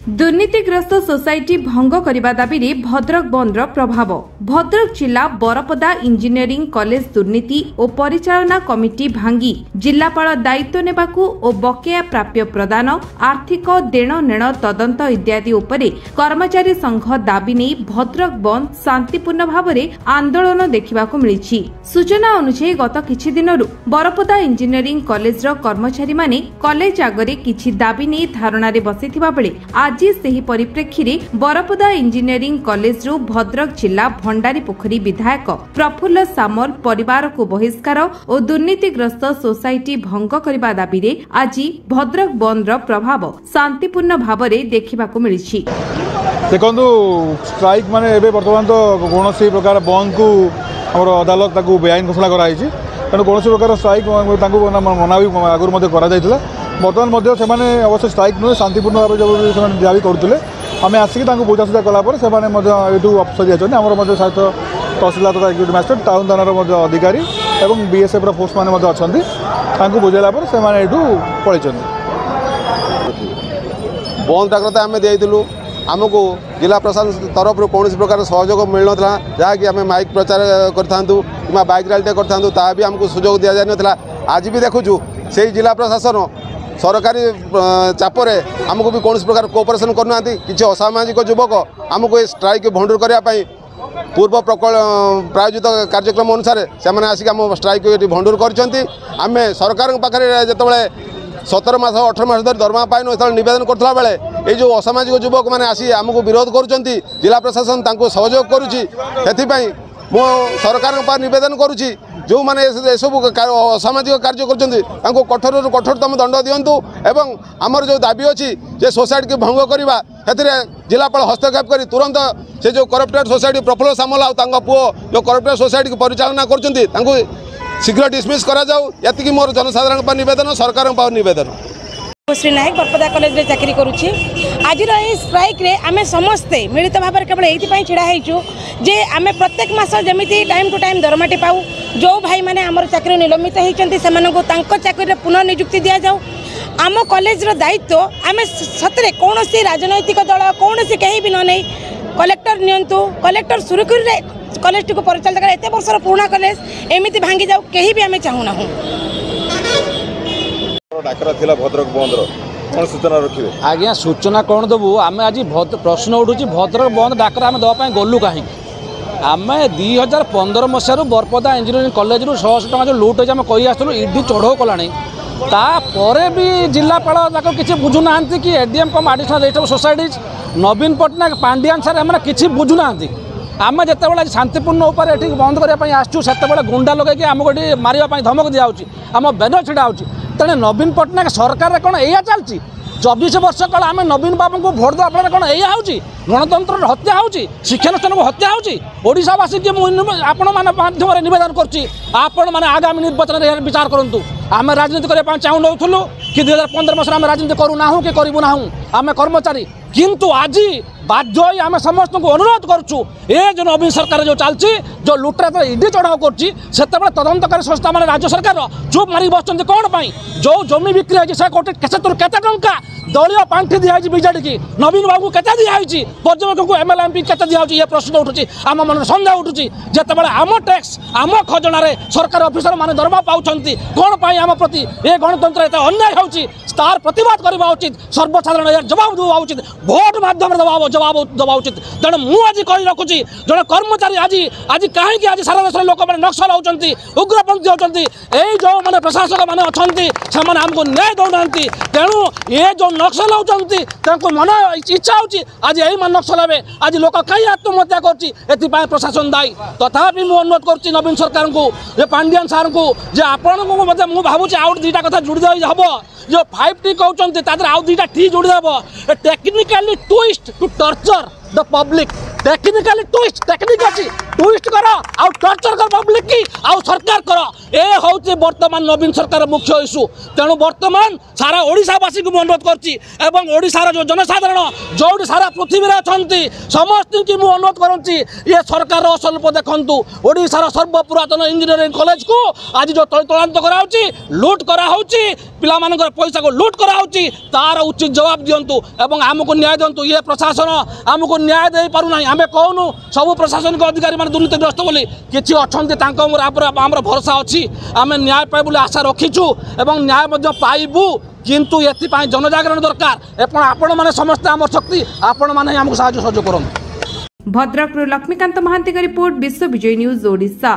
ଦୁର୍ନୀତିଗ୍ରସ୍ତ ସୋସାଇଟି ଭଙ୍ଗ କରିବା ଦାବିରେ ଭଦ୍ରକ ବନ୍ଦର ପ୍ରଭାବ। ଭଦ୍ରକ ଜିଲ୍ଲା ବରପଦା ଇଞ୍ଜିନିୟରିଂ କଲେଜ ଦୁର୍ନୀତି ଓ ପରିଚାଳନା କମିଟି ଭାଙ୍ଗି ଜିଲ୍ଲାପାଳ ଦାୟିତ୍ୱ ନେବାକୁ ଓ ବକେୟା ପ୍ରାପ୍ୟ ପ୍ରଦାନ, ଆର୍ଥିକ ଦେଣନେଣ ତଦନ୍ତ ଇତ୍ୟାଦି ଉପରେ କର୍ମଚାରୀ ସଂଘ ଦାବି ନେଇ ଭଦ୍ରକ ବନ୍ଦ ଶାନ୍ତିପୂର୍ଣ୍ଣ ଭାବରେ ଆନ୍ଦୋଳନ ଦେଖିବାକୁ ମିଳିଛି। ସୂଚନା ଅନୁଯାୟୀ, ଗତ କିଛି ଦିନରୁ ବରପଦା ଇଞ୍ଜିନିୟରିଂ କଲେଜର କର୍ମଚାରୀମାନେ କଲେଜ ଆଗରେ କିଛି ଦାବି ନେଇ ଧାରଣାରେ ବସିଥିବା ବେଳେ ଆଜି ସେହି ପରିପ୍ରେକ୍ଷୀରେ ବରପଦା ଇଞ୍ଜିନିୟରିଂ କଲେଜରୁ ଭଦ୍ରକ ଜିଲ୍ଲା ଭଣ୍ଡାରୀପୋଖରୀ ବିଧାୟକ ପ୍ରଫୁଲ୍ଲ ସାମଲ ପରିବାରକୁ ବହିଷ୍କାର ଓ ଦୁର୍ନୀତିଗ୍ରସ୍ତ ସୋସାଇଟି ଭଙ୍ଗ କରିବା ଦାବିରେ ଆଜି ଭଦ୍ରକ ବନ୍ଦର ପ୍ରଭାବ ଶାନ୍ତିପୂର୍ଣ୍ଣ ଭାବରେ ଦେଖିବାକୁ ମିଳିଛି। ଦେଖନ୍ତୁ, ଷ୍ଟ୍ରାଇକ୍ ମାନେ ଏବେ ବର୍ତ୍ତମାନ ତ କୌଣସି ପ୍ରକାର ବନ୍ଦକୁ ଆମର ଅଦାଲତ ତାକୁ ବେଆଇନ ଘୋଷଣା କରାଯାଇଛି। ତେଣୁ କୌଣସି ପ୍ରକାର ଷ୍ଟ୍ରାଇକ୍ ତାଙ୍କୁ ମନା ବି ଆଗରୁ ମଧ୍ୟ କରାଯାଇଥିଲା। ବର୍ତ୍ତମାନ ମଧ୍ୟ ସେମାନେ ଅବଶ୍ୟ ଷ୍ଟ୍ରାଇକ୍ ନୁହେଁ, ଶାନ୍ତିପୂର୍ଣ୍ଣ ଭାବେ ଯେଉଁ ସେମାନେ ଦାବି କରୁଥିଲେ, ଆମେ ଆସିକି ତାଙ୍କୁ ବୁଝାସୁଝା କଲା ପରେ ସେମାନେ ମଧ୍ୟ ଏଇଠୁ ଅପସରି ଯାଇଛନ୍ତି। ଆମର ମଧ୍ୟ ସହିତ ତହସିଲଦାର ତଥା ଏକ୍ଜିକ୍ୟୁଟିଭ୍ ମାଜିଷ୍ଟ୍ରେଟ୍, ଟାଉନ୍ ଥାନାର ମଧ୍ୟ ଅଧିକାରୀ ଏବଂ ବିଏସ୍ଏଫ୍ର ଫୋର୍ସ ମାନେ ମଧ୍ୟ ଅଛନ୍ତି। ତାଙ୍କୁ ବୁଝାଇଲା ପରେ ସେମାନେ ଏଇଠୁ ପଳେଇଛନ୍ତି। ବନ୍ଦ ଡାକରା ତ ଆମେ ଦେଇଥିଲୁ, ଆମକୁ ଜିଲ୍ଲା ପ୍ରଶାସନ ତରଫରୁ କୌଣସି ପ୍ରକାର ସହଯୋଗ ମିଳିନଥିଲା। ଯାହାକି ଆମେ ମାଇକ୍ ପ୍ରଚାର କରିଥାନ୍ତୁ କିମ୍ବା ବାଇକ୍ ରାଲିଟେ କରିଥାନ୍ତୁ, ତାହା ବି ଆମକୁ ସୁଯୋଗ ଦିଆଯାଇନଥିଲା। ଆଜି ବି ଦେଖୁଛୁ, ସେଇ ଜିଲ୍ଲା ପ୍ରଶାସନ ସରକାରୀ ଚାପରେ ଆମକୁ ବି କୌଣସି ପ୍ରକାର କୋଅପରେସନ୍ କରୁନାହାନ୍ତି। କିଛି ଅସାମାଜିକ ଯୁବକ ଆମକୁ ଏ ଷ୍ଟ୍ରାଇକ୍ ଭଣ୍ଡୁର କରିବା ପାଇଁ ପୂର୍ବ ପ୍ରାୟୋଜିତ କାର୍ଯ୍ୟକ୍ରମ ଅନୁସାରେ ସେମାନେ ଆସିକି ଆମ ଷ୍ଟ୍ରାଇକ୍ ଏଠି ଭଣ୍ଡୁର କରିଛନ୍ତି। ଆମେ ସରକାରଙ୍କ ପାଖରେ ଯେତେବେଳେ 17 ମାସ 18 ମାସ ଧରି ଦରମା ପାଇନୁ, ସେତେବେଳେ ନିବେଦନ କରୁଥିଲା ବେଳେ ଏଇ ଯେଉଁ ଅସାମାଜିକ ଯୁବକମାନେ ଆସି ଆମକୁ ବିରୋଧ କରୁଛନ୍ତି, ଜିଲ୍ଲା ପ୍ରଶାସନ ତାଙ୍କୁ ସହଯୋଗ କରୁଛି। ସେଥିପାଇଁ ମୁଁ ସରକାରଙ୍କ ପାଖରେ ନିବେଦନ କରୁଛି, ଯେଉଁମାନେ ଏସବୁ ଅସାମାଜିକ କାର୍ଯ୍ୟ କରୁଛନ୍ତି ତାଙ୍କୁ କଠୋରରୁ କଠୋରତମ ଦଣ୍ଡ ଦିଅନ୍ତୁ ଏବଂ ଆମର ଯେଉଁ ଦାବି ଅଛି ଯେ ସୋସାଇଟିକୁ ଭଙ୍ଗ କରିବା, ସେଥିରେ ଜିଲ୍ଲାପାଳ ହସ୍ତକ୍ଷେପ କରି ତୁରନ୍ତ ସେ ଯେଉଁ କରପ୍ଟେଡ୍ ସୋସାଇଟି, ପ୍ରଫୁଲ୍ଲ ସାମଲ ଆଉ ତାଙ୍କ ପୁଅ ଯେଉଁ କରପ୍ଟେଡ୍ ସୋସାଇଟିକୁ ପରିଚାଳନା କରୁଛନ୍ତି, ତାଙ୍କୁ ଶୀଘ୍ର ଡିସମିସ୍ କରାଯାଉ। ଏତିକି ମୋର ଜନସାଧାରଣଙ୍କ ପାଇଁ ନିବେଦନ, ସରକାରଙ୍କ ପାଖରେ ନିବେଦନ। ଶ୍ରୀ ନାୟକ, ବରପଦା କଲେଜରେ ଚାକିରି କରୁଛି। ଆଜିର ଏହି ଷ୍ଟ୍ରାଇକ୍ରେ ଆମେ ସମସ୍ତେ ମିଳିତ ଭାବରେ କେବଳ ଏଇଥିପାଇଁ ଛିଡ଼ା ହେଇଛୁ ଯେ ଆମେ ପ୍ରତ୍ୟେକ ମାସ ଯେମିତି ଟାଇମ୍ ଟୁ ଟାଇମ୍ ଦରମାଟି ପାଉ। ଯେଉଁ ଭାଇମାନେ ଆମର ଚାକିରି ନିଲମ୍ବିତ ହେଇଛନ୍ତି, ସେମାନଙ୍କୁ ତାଙ୍କ ଚାକିରିରେ ପୁନଃ ନିଯୁକ୍ତି ଦିଆଯାଉ। ଆମ କଲେଜର ଦାୟିତ୍ୱ ଆମେ ସତରେ କୌଣସି ରାଜନୈତିକ ଦଳ, କୌଣସି କେହି ବି ନ ନେଇ କଲେକ୍ଟର ନିଅନ୍ତୁ। କଲେକ୍ଟର ସୁରୁଖୁରୁରେ କଲେଜଟିକୁ ପରିଚାଳିତ କରେ। ଏତେ ବର୍ଷର ପୁରୁଣା କଲେଜ ଏମିତି ଭାଙ୍ଗି ଯାଉ, କେହି ବି ଆମେ ଚାହୁଁନାହୁଁ। ଡାକରା ଥିଲା ଭଦ୍ରକ ବନ୍ଦର, କ'ଣ ସୂଚନା ରଖିବେ? ଆଜ୍ଞା, ସୂଚନା କ'ଣ ଦେବୁ ଆମେ? ଆଜି ପ୍ରଶ୍ନ ଉଠୁଛି, ଭଦ୍ରକ ବନ୍ଦ ଡାକରା ଆମେ ଦେବା ପାଇଁ ଗଲୁ କାହିଁକି? ଆମେ 2015 ମସିହାରୁ ବରପଦା ଇଞ୍ଜିନିୟରିଂ କଲେଜରୁ 600 ଟଙ୍କା ଯେଉଁ ଲୁଟ୍ ହେଇଛି, ଆମେ କହି ଆସୁଥିଲୁ, ଇଡି ଚଢ଼ଉ କଲାଣି, ତାପରେ ବି ଜିଲ୍ଲାପାଳ ତାକୁ କିଛି ବୁଝୁନାହାନ୍ତି କି ADM cum additional registrar societies ନବୀନ ପଟ୍ଟନାୟକ, ପାଣ୍ଡିଆନ ସାର୍, ଏମାନେ କିଛି ବୁଝୁନାହାନ୍ତି। ଆମେ ଯେତେବେଳେ ଆଜି ଶାନ୍ତିପୂର୍ଣ୍ଣ ଉପରେ ଏଠି ବନ୍ଦ କରିବା ପାଇଁ ଆସିଛୁ, ସେତେବେଳେ ଗୁଣ୍ଡା ଲଗେଇକି ଆମକୁ ଏଠି ମାରିବା ପାଇଁ ଧମକ ଦିଆହେଉଛି, ଆମ ବ୍ୟାନର ଛିଡ଼ା ହେଉଛି। ତେଣୁ ନବୀନ ପଟ୍ଟନାୟକ ସରକାରରେ କ'ଣ ଏଇଆ ଚାଲିଛି? 24 ବର୍ଷ କାଳ ଆମେ ନବୀନ ବାବୁଙ୍କୁ ଭୋଟ ଦେବା ଫଳରେ କ'ଣ ଏଇଆ ହେଉଛି? ଗଣତନ୍ତ୍ରର ହତ୍ୟା ହେଉଛି, ଶିକ୍ଷାନୁଷ୍ଠାନକୁ ହତ୍ୟା ହେଉଛି। ଓଡ଼ିଶାବାସୀକି ମୁଁ ଆପଣମାନଙ୍କ ମାଧ୍ୟମରେ ନିବେଦନ କରୁଛି, ଆପଣମାନେ ଆଗାମୀ ନିର୍ବାଚନରେ ଏହାର ବିଚାର କରନ୍ତୁ। ଆମେ ରାଜନୀତି କରିବା ପାଇଁ ଚାହୁଁନଥିଲୁ କି 2015 ମସିହାରେ ଆମେ ରାଜନୀତି କରୁନାହୁଁ କି କରିବୁ ନାହୁଁ, ଆମେ କର୍ମଚାରୀ। କିନ୍ତୁ ଆଜି ବାଧ୍ୟ ହୋଇ ଆମେ ସମସ୍ତଙ୍କୁ ଅନୁରୋଧ କରୁଛୁ, ଏ ଯେଉଁ ନବୀନ ସରକାର ଯେଉଁ ଚାଲିଛି, ଯେଉଁ ଲୁଟରା ଇଡି ଚଢ଼ାଉ କରୁଛି, ସେତେବେଳେ ତଦନ୍ତକାରୀ ସଂସ୍ଥା ମାନେ ରାଜ୍ୟ ସରକାର ଚୁପ୍ ମାରିକି ବସୁଛନ୍ତି କ'ଣ ପାଇଁ? ଯେଉଁ ଜମି ବିକ୍ରି ହେଇଛି, ସେ କୋଟି ସେଥିରୁ କେତେ ଟଙ୍କା ଦଳୀୟ ପାଣ୍ଠି ଦିଆହେଇଛି ବିଜେଡିକି? ନବୀନ ବାବୁଙ୍କୁ କେତେ ଦିଆହେଇଛି? ପର୍ଯ୍ୟବେକ୍ଷକଙ୍କୁ, ଏମ୍ଏଲ୍ଏ, ଏମ୍ପି କେତେ ଦିଆହେଉଛି? ଇଏ ପ୍ରଶ୍ନ ଉଠୁଛି, ଆମ ମନରେ ସନ୍ଦେହ ଉଠୁଛି। ଯେତେବେଳେ ଆମ ଟ୍ୟାକ୍ସ, ଆମ ଖଜଣାରେ ସରକାରୀ ଅଫିସର ମାନେ ଦରମା ପାଉଛନ୍ତି, କ'ଣ ପାଇଁ ଆମ ପ୍ରତି ଏ ଗଣତନ୍ତ୍ର ଏତେ ଅନ୍ୟାୟ ହେଉଛି? ତାର ପ୍ରତିବାଦ କରିବା ଉଚିତ। ସର୍ବସାଧାରଣ ଏହାର ଜବାବ ଦେବା ଉଚିତ, ଭୋଟ ମାଧ୍ୟମରେ ଦେବା ଜବାବ ଦେବା ଉଚିତ। ତେଣୁ ମୁଁ ଆଜି କହି ରଖୁଛି, ଜଣେ କର୍ମଚାରୀ ଆଜି କାହିଁକି ଆଜି ସାରା ଦେଶରେ ଲୋକମାନେ ନକ୍ସଲ ହେଉଛନ୍ତି, ଉଗ୍ରପନ୍ଥୀ ହେଉଛନ୍ତି? ଏଇ ଯେଉଁମାନେ ପ୍ରଶାସକ ମାନେ ଅଛନ୍ତି, ସେମାନେ ଆମକୁ ନ୍ୟାୟ ଦେଉନାହାନ୍ତି। ତେଣୁ ଏ ଯେଉଁ ନକ୍ସଲ ହେଉଛନ୍ତି, ତାଙ୍କୁ ମନ ଇଚ୍ଛା ହେଉଛି ଆଜି ଏଇମାନେ ନକ୍ସଲ ହେବେ। ଆଜି ଲୋକ କାହିଁ ଆତ୍ମହତ୍ୟା କରୁଛି? ଏଥିପାଇଁ ପ୍ରଶାସନ ଦାୟୀ। ତଥାପି ମୁଁ ଅନୁରୋଧ କରୁଛି ନବୀନ ସରକାରଙ୍କୁ, ଯେ ପାଣ୍ଡିଆନ ସାର୍ଙ୍କୁ, ଯେ ଆପଣଙ୍କୁ ମଧ୍ୟ ମୁଁ ଭାବୁଛି ଆଉ ଦୁଇଟା କଥା ଯୋଡ଼ି ଦେଇ ହେବ। ଯେଉଁ 5 ଟି କହୁଛନ୍ତି, ତା ଦେହରେ ଆଉ ଦୁଇଟା ଟି ଯୋଡ଼ି ଦେବ, technically twist to torture the public. Technically twist, technique ଅଛି, ଟୁଇଷ୍ଟ କର ଆଉ ଟର୍ଚର କର ପବ୍ଲିକ କି ଆଉ ସରକାର କର। ଏ ହେଉଛି ବର୍ତ୍ତମାନ ନବୀନ ସରକାର ମୁଖ୍ୟ ଇସ୍ୟୁ। ତେଣୁ ବର୍ତ୍ତମାନ ସାରା ଓଡ଼ିଶାବାସୀଙ୍କୁ ମୁଁ ଅନୁରୋଧ କରୁଛି ଏବଂ ଓଡ଼ିଶାର ଯେଉଁ ଜନସାଧାରଣ ଯେଉଁଠି ସାରା ପୃଥିବୀରେ ଅଛନ୍ତି ସମସ୍ତଙ୍କୁ ମୁଁ ଅନୁରୋଧ କରୁଛି, ଇଏ ସରକାରର ଅସଲ ରୂପ ଦେଖନ୍ତୁ। ଓଡ଼ିଶାର ସର୍ବପୁରାତନ ଇଞ୍ଜିନିୟରିଂ କଲେଜକୁ ଆଜି ଯେଉଁ ତଳିତଳାନ୍ତ କରାହେଉଛି, ଲୁଟ୍ କରାହେଉଛି, ପିଲାମାନଙ୍କର ପଇସାକୁ ଲୁଟ୍ କରାହେଉଛି, ତାର ଉଚିତ ଜବାବ ଦିଅନ୍ତୁ ଏବଂ ଆମକୁ ନ୍ୟାୟ ଦିଅନ୍ତୁ। ଇଏ ପ୍ରଶାସନ ଆମକୁ ନ୍ୟାୟ ଦେଇପାରୁନାହିଁ। ଆମେ କହୁନୁ ସବୁ ପ୍ରଶାସନିକ ଅଧିକାରୀମାନେ ଦୁର୍ନୀତିଗ୍ରସ୍ତ ବୋଲି, କିଛି ଅଛନ୍ତି ତାଙ୍କ ଉପରେ ଆମର ଭରସା ଅଛି। ଆମେ ନ୍ୟାୟ ପାଇବୁ ବୋଲି ଆଶା ରଖିଛୁ ଏବଂ ନ୍ୟାୟ ମଧ୍ୟ ପାଇବୁ, କିନ୍ତୁ ଏଥିପାଇଁ ଜନଜାଗରଣ ଦରକାର ଏବଂ ଆପଣମାନେ ସମସ୍ତେ ଆମର ଶକ୍ତି, ଆପଣମାନେ ହିଁ ଆମକୁ ସାହାଯ୍ୟ ସହଯୋଗ କରନ୍ତୁ। ଭଦ୍ରକରୁ ଲକ୍ଷ୍ମୀକାନ୍ତ ମହାନ୍ତିଙ୍କ ରିପୋର୍ଟ, ବିଶ୍ୱ ବିଜୟ ନ୍ୟୁଜ୍ ଓଡ଼ିଶା।